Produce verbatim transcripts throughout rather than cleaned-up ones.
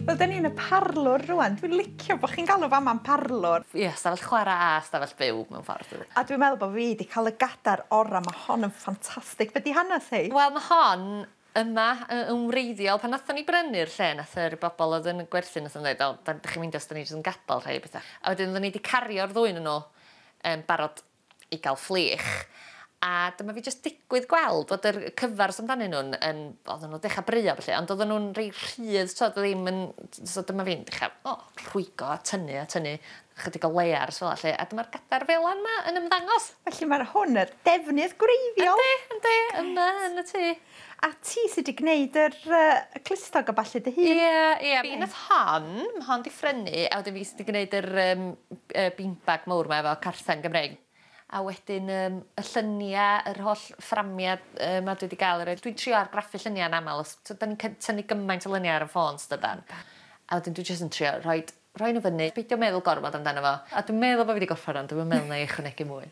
Wel, da ni yn y parlwr rŵan. Dwi'n licio bod chi'n galw fama'n parlwr. Ie, stafell chwarae a stafell byw mewn ffordd. A dwi'n meddwl bod fi wedi cael y gadar ora. Mae hon yn ffantastig. Be di hanes hi? Wel, mae hon yma yn wreiddiol. Pan nathon ni brynu'r lle, nath yr bobl oedd yn gwerthu, nath nhw'n dweud, o, da chi'n mynd os da ni jyst yn gadael rhai bethau. A wedyn oedden ni wedi cario'r ddwy nhw um, barod i gael fflich. A dyma fi jyst digwydd gweld bod yr cyfars amdanyn nhw'n, yn, oedden nhw'n dechrau brio felly, ond oedden nhw'n rei rhydd, so ddim yn, so dyma fi'n dechrau, o, rhwygo a tynnu a tynnu, chydig o layers fel lle, a dyma'r gadar felan yma yn ymddangos. Felly mae'r hwn yr defnydd gwreiddiol. Yndi, yndi, yma yn y tŷ. A ti sydd wedi gwneud yr uh, clustog a ballu dy hun? Ie, ie. Fi nath hon, mae hon di ffrynu, a wedyn fi sydd wedi gwneud yr um, beanbag mawr yma efo carthen Gymreig. A wedyn um, y lluniau, yr holl fframiau um, ma dwi wedi gael. Dwi'n trio argraffu lluniau yn aml, os da ni'n tynnu gymaint o luniau ar y ffôn, dydan. A wedyn dwi jyst yn trio rhoi, rhoi nhw fyny, beidio meddwl gormod amdano fo. A dwi'n meddwl bod fi wedi gorffen ond dwi'n meddwl na i ychwanegu mwy.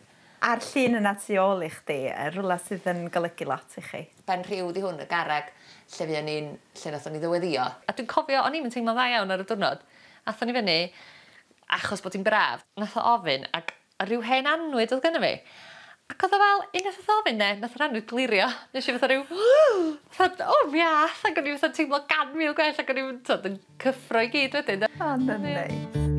A'r llun yna tu ôl i chdi, rhywle sydd yn golygu lot i chi? Ben Rhiw di hwn, y garreg, lle fuon ni'n, lle nathon ni ddyweddio. A dwi'n cofio, o'n i'm yn teimlo'n dda iawn ar y diwrnod. Athon ni fyny, achos bod hi'n braf, nath o ofyn, ac a rhyw hen annwyd oedd gynno fi. Ac oedd o fel, unwaith oedd ofyn ne, nath yr annwyd glirio. Nes i fatha rhyw, fatha, o, mi ath, ac o'n i fatha teimlo gan mil gwell, ac o'n i'n yn cyffro i gyd wedyn. O, na, nei.